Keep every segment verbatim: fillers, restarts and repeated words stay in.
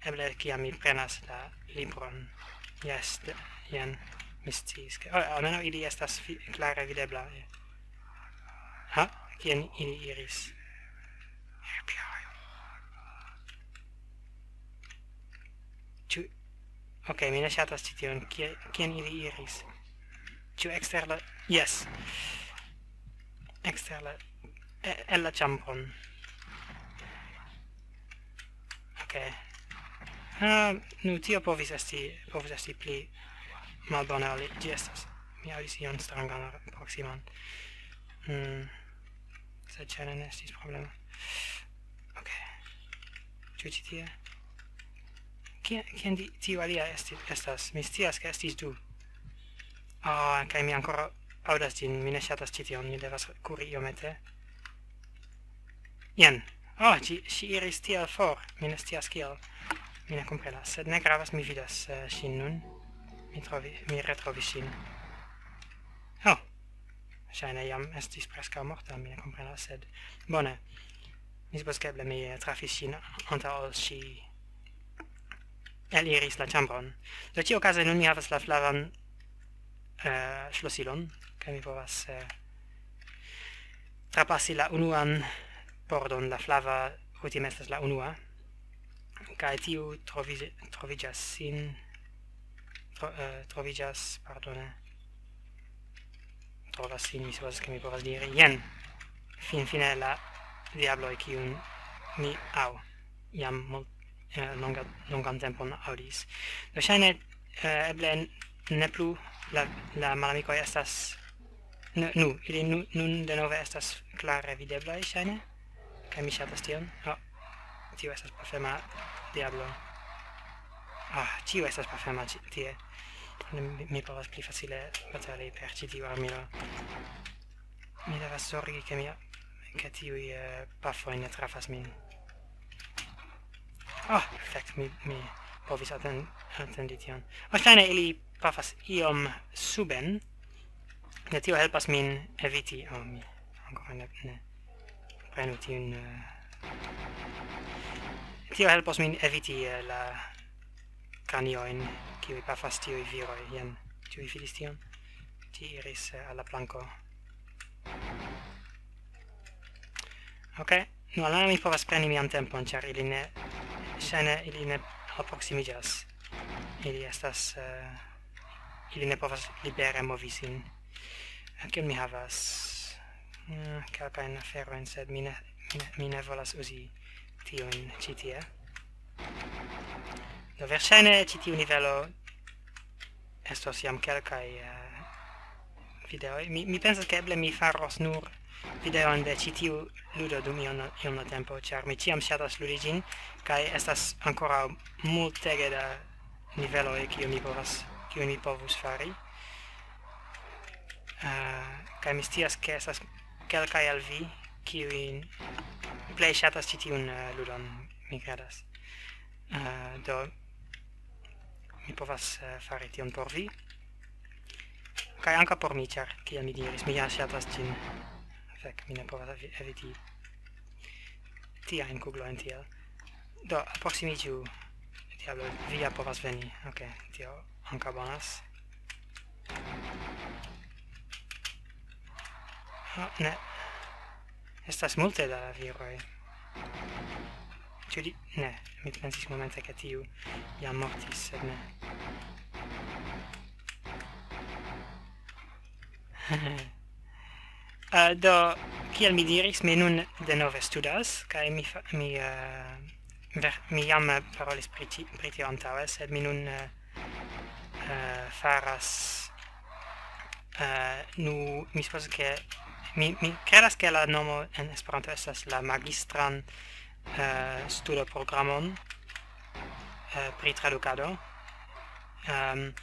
Eble kiam mi prenas la libron. Jes, de, jen, mi sciis, ke... Oh, almenaŭ ili estas fi-, klare videbla. Ha? Kien ili iris? Ĉu... Ok, mi ne ŝatas ĉi tion. Kie-, kien ili iris? Ĉu ekster la... Jes. Ekster la... e-, el la ĉambron. Ok. Ah, nu, tio povis esti, povis esti pli malbona, li, ĝi estas. Mi aŭdis ion strangan proksiman. Hmm. Sed ĉe ne estis problema. Ok. Ĉu ĉi tie? Kie-, kien di-, tiu alia esti-, estas? Mi scias, ke estis du. Ah, kaj mi ankoraŭ aŭdas ĝin, mi ne ŝatas ĉi tion, mi devas kuri iomete. Jen. Oh, ĝi, ŝi iris tiel for, mi ne scias kiel. Mi ne komprenas, sed ne gravas, mi vidas, eh, ŝin nun. Mi trovi-, mi retrovis ŝin. Oh, ŝajne jam estis preskaŭ morta, mi ne komprenas, sed bone. Mi supozas, ke eble mi, eh, trafis ŝin antaŭ ol ŝi eliris la ĉambron. Do ĉiuokaze nun mi havas la flavan, eh, ŝlosilon, kaj mi povas, eh, trapasi la unuan pordon, la flava kutime estas la unua, kaj tiu trovi-, troviĝas sin, tro-, eh, troviĝas, pardone, trovas sin, mi supozas, ke mi povas diri, jen, finfine la diabloj, kiun mi aŭ jam mul-, eh, longa-, longan tempon aŭdis. Do ŝajne, eh, eble ne plu la, la malamikoj estas, nu, nu, ili nu-, nun denove estas klare videblaj, ŝajne, kaj mi ŝatas tion. Oh, tio estas pafema diablo. Ah, ĉio estas pafema ĉi tie. Mi, mi povas pli facile batali per ĉi tiu armilo. Mi devas zorgi, ke mi, ke tiuj, eh, pafoj ne trafas min. Ah, fek, mi, mi povis aten-, atendi tion. Oh, ŝajne ili pafas iom suben. Ne, tio helpas min eviti. Oh, mi ankoraŭ ne, ne prenu tiun, eh, tio helpos min eviti, eh, la kraniojn, kiuj pafas tiuj viroj. Jen, ĉu vi vidis tion? Ĝi iris, eh, al la planko. Ok, nu, almenaŭ mi povas preni mian tempon, ĉar ili ne, ŝajne ili ne alproksimiĝas. Ili estas, eh, ili ne povas libere movi sin. Eh, kion mi havas? Mm, kelkajn aferojn, sed mi ne, mi ne, mi ne volas uzi tiujn ĉi tie. Do, verŝajne ĉi tiu nivelo estos jam kelkaj, eh, videoj. Mi, mi pensas, ke eble mi faros nur videon de ĉi tiu ludo dum iom, iom da tempo, ĉar mi ĉiam ŝatas ludi ĝin, kaj estas ankoraŭ multege da niveloj, kiu mi povas, kiu mi povus fari. Eh, kaj mi scias, ke estas kelkaj el vi, kiuj plej ŝatas ĉi tiun, eh, ludon, mi kredas. Eh, do, mi povas, eh, fari tion por vi. Kaj ankaŭ por mi, ĉar, kiel mi diris, mi ja ŝatas ĝin. Fek, mi ne povas evi-, eviti tiajn kuglojn tiel. Do, alproksimiĝu, diablo, vi ja povas veni. Ok, tio ankaŭ bonas. Oh, ne. Estas multe da viroj. Ĉu di-, ne, mi pensis momente, ke tiu jam mortis, sed ne. Eh, do, kiel mi diris, mi nun denove studas, kaj mi fa-, mi, eh, ver-, mi jam, eh, parolis pri ti-, pri tio antaŭe, sed mi nun, eh, eh, faras, eh, nu, mi supozas, ke mi, mi kredas, ke la nomo en Esperanto estas la magistran, eh, studoprogramon, eh, pri tradukado. Ehm,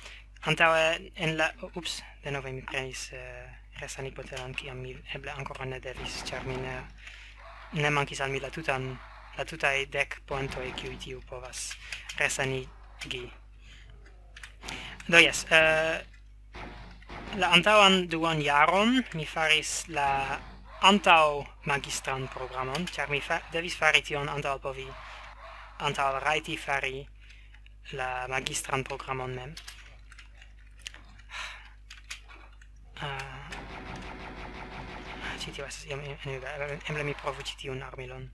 antaŭe en la, ups, denove mi prenis, eh, resanigobotelon, kiam mi eble ankoraŭ ne devis, ĉar mi ne, ne mankis al mi la tutan, la tutaj dek poentoj, kiuj tiu povas resanigi. Do jes, eh, la antaŭan duan jaron mi faris la antaŭ magistran programon, ĉar mi fa-, devis fari tion antaŭ ol povi antaŭ rajti fari la magistran programon mem. Ah, ĉi tio estas iom en-, enuiga. Eble, eble mi provu ĉi tiun armilon.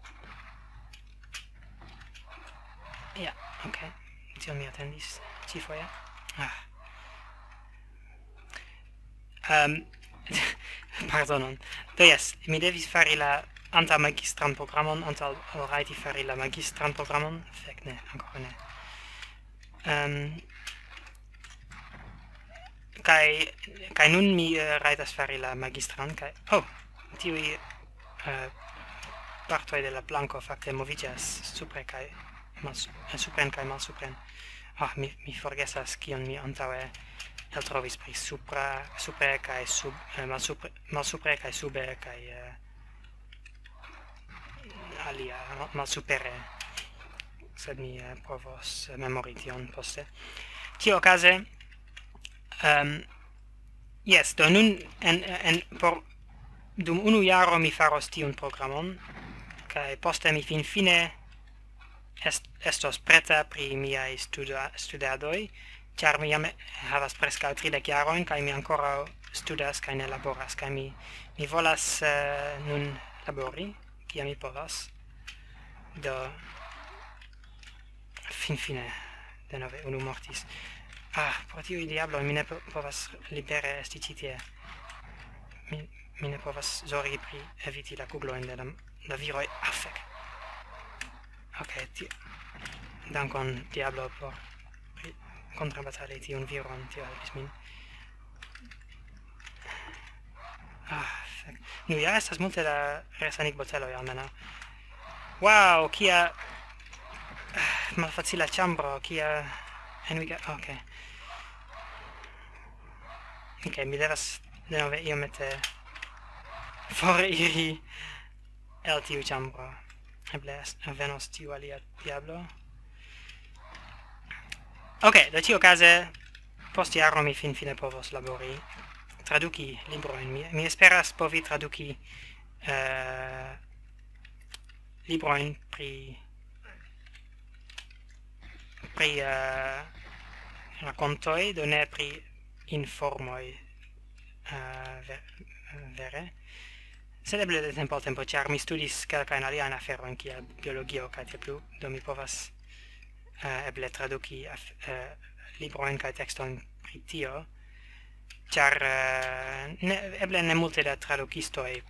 Ja, ok. Tion mi atendis ĉifoje. Ah. Ehm, pardonon. Do jes, mi devis fari la antaŭ magistran programon, antaŭ ol rajti fari la magistran programon. Fek, ne, ankoraŭ ne. Ehm, kaj, kaj nun mi, eh, rajtas fari la magistran, kaj, oh, tiuj, eh, partoj de la planko fakte moviĝas supre kaj malsu-, eh, supren kaj malsupren. Ah, mi, mi forgesas, kion mi antaŭe eltrovis pri supra, supre kaj sub-, eh, malsupre, malsupre kaj sube kaj, eh, alia, ma-, malsupere. Sed mi, eh, provos, eh, memori tion poste. Ĉiuokaze, ehm, jes, do nun en, en, por, dum unu jaro mi faros tiun programon, kaj poste mi finfine est-, estos preta pri miaj studa-, studadoj, ĉar mi jam havas preskaŭ tridek jarojn, kaj mi ankoraŭ studas kaj ne laboras, kaj mi, mi volas, eh, nun labori, kiam mi povas. Do, finfine, denove unu mortis. Ah, pro tiuj diabloj mi ne po-, povas libere esti ĉi tie. Mi, mi ne povas zorgi pri eviti la kuglojn de la, la viroj. Ah, fek. Ok, ti-, dankon, diablo, por pri-, kontrabatali tiun viron, tio helpis min. Ah, fek. Nu, ja estas multe da resanigboteloj, almenaŭ. Wow, kia, ah, malfacila ĉambro, kia enuiga-, ok. Ok, mi devas denove iomete foriri el tiu ĉambro. Eble es-, venos tiu alia diablo. Ok, do ĉiuokaze, post jaro mi finfine povos labori, traduki librojn. Mi, mi esperas povi traduki, eh, librojn pri, pri, eh, rakontoj, do ne pri informoj, eh, ve-, vere. Sed eble de tempo al tempo, ĉar mi studis kelkajn aliajn aferojn, kiel biologio kaj tiel plu, do mi povas, eh, eble traduki af-, eh, librojn kaj tekstojn pri tio, ĉar, eh, ne, eble ne multe da tradukistoj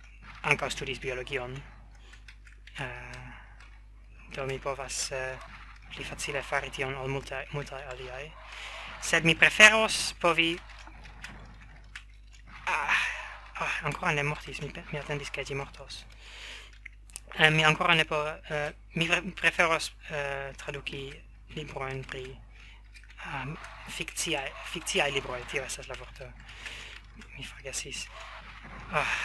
ankaŭ studis biologion. Eh, do mi povas, eh, pli facile fari tion ol multaj, multaj aliaj. Sed mi preferos povi, ah, ah, ankoraŭ ne mortis, mi pe-, mi atendis, ke ĝi mortos. Eh, mi ankoraŭ ne po-, eh, mi pre-, preferos, eh, traduki librojn pri, ah, fikciaj, fikciaj libroj, tio estas la vorto. Mi forgesis. Ah,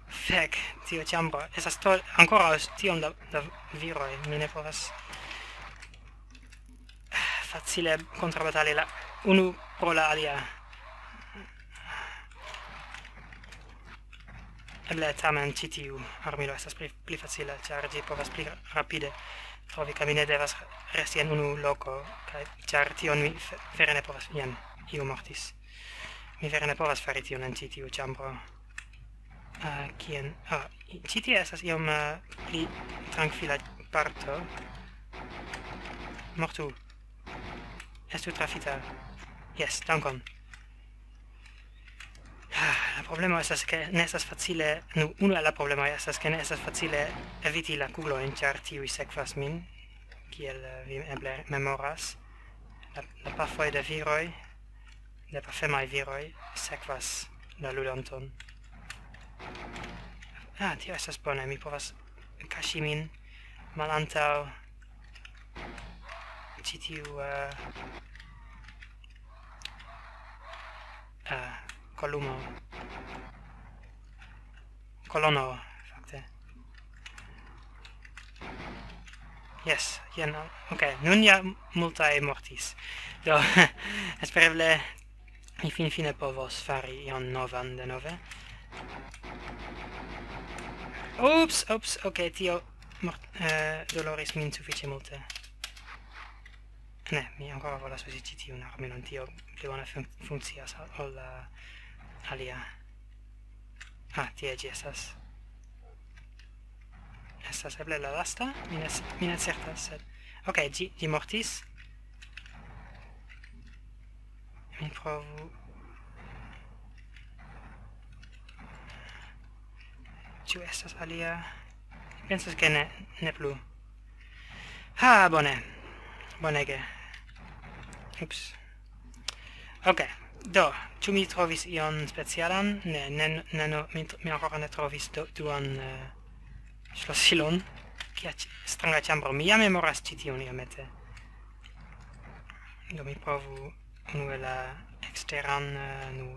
fek, tio ĉambro. Estas to-, ankoraŭ tiom da, da viroj, mi ne povas facile kontrabatali la unu pro la alia. Eble tamen ĉi tiu armilo estas pli, pli facila, ĉar ĝi povas pli rapide trovi, kaj mi ne devas resti en unu loko, kaj ĉar tion mi fe-, vere ne povas. Jen, iu mortis. Mi vere ne povas fari tion en ĉi tiu ĉambro. Ah, kien? Ah, i-, ĉi tie estas iom, eh, pli trankvila parto. Mortu. Estu trafita. Jes, dankon. Ah, la problemo estas, ke ne estas facile, nu, unu el la problemoj estas, ke ne estas facile eviti la kuglojn, ĉar tiuj sekvas min, kiel, eh, vi eble memoras. La, la pafoj de viroj, de pafemaj viroj sekvas la ludanton. Ah, tio estas bone, mi povas kaŝi min malantaŭ ĉi tiu, eh, eh, kolumo. Kolono, fakte. Jes, jen, ok, nun ja multaj mortis. Do, espereble mi finfine povos fari ion novan denove. Ups, ups, ok, tio mort, eh, doloris min sufiĉe multe. Ne, mi ankoraŭ volas uzi ĉi tiun armilon, tio pli bone fun- funkcias ol la alia. Ah, tie ĝi estas. Estas eble la lasta? Mi ne, s- mi ne certas, sed... Ok, ĝi, ĝi mortis. Mi provu... Ĉu estas alia? Mi pensas, ke ne, ne plu. Ha, bone. Bonege. Ups. Ok, do, ĉu mi trovis ion specialan? Ne, ne, ne, no, mi, tr- mi ankoraŭ ne trovis do, duan eh, ŝlosilon. Kia ĉ- stranga ĉambro. Mi jam memoras ĉi tiun iomete. Do mi provu unue la eksteran, eh, nu,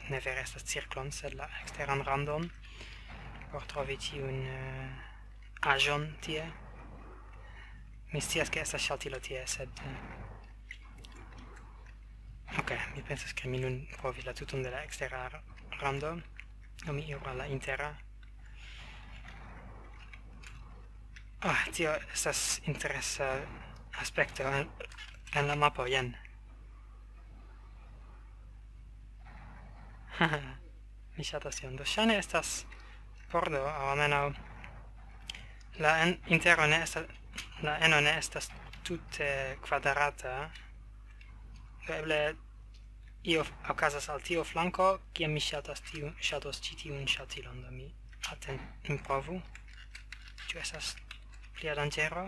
ne vere estas cirklon, sed la eksteran randon, por trovi tiun eh, aĵon tie. Mi scias, ke estas ŝaltilo tie, sed... eh, Ok, mi pensas, ke mi nun provis la tuton de la ekstera r- rando. Do mi iru al la intera. Ah, tio estas interesa aspekto en, en la mapo, jen. Mi ŝatas tion. Do ŝajne estas pordo, aŭ almenaŭ la en, intero ne estas, la eno ne estas tute kvadrata. Do eble io f- okazas al tiu flanko, kiam mi ŝatas tiu, ŝatos ĉi tiun ŝaltilon, do mi aten-, mi provu. Ĉu estas plia danĝero?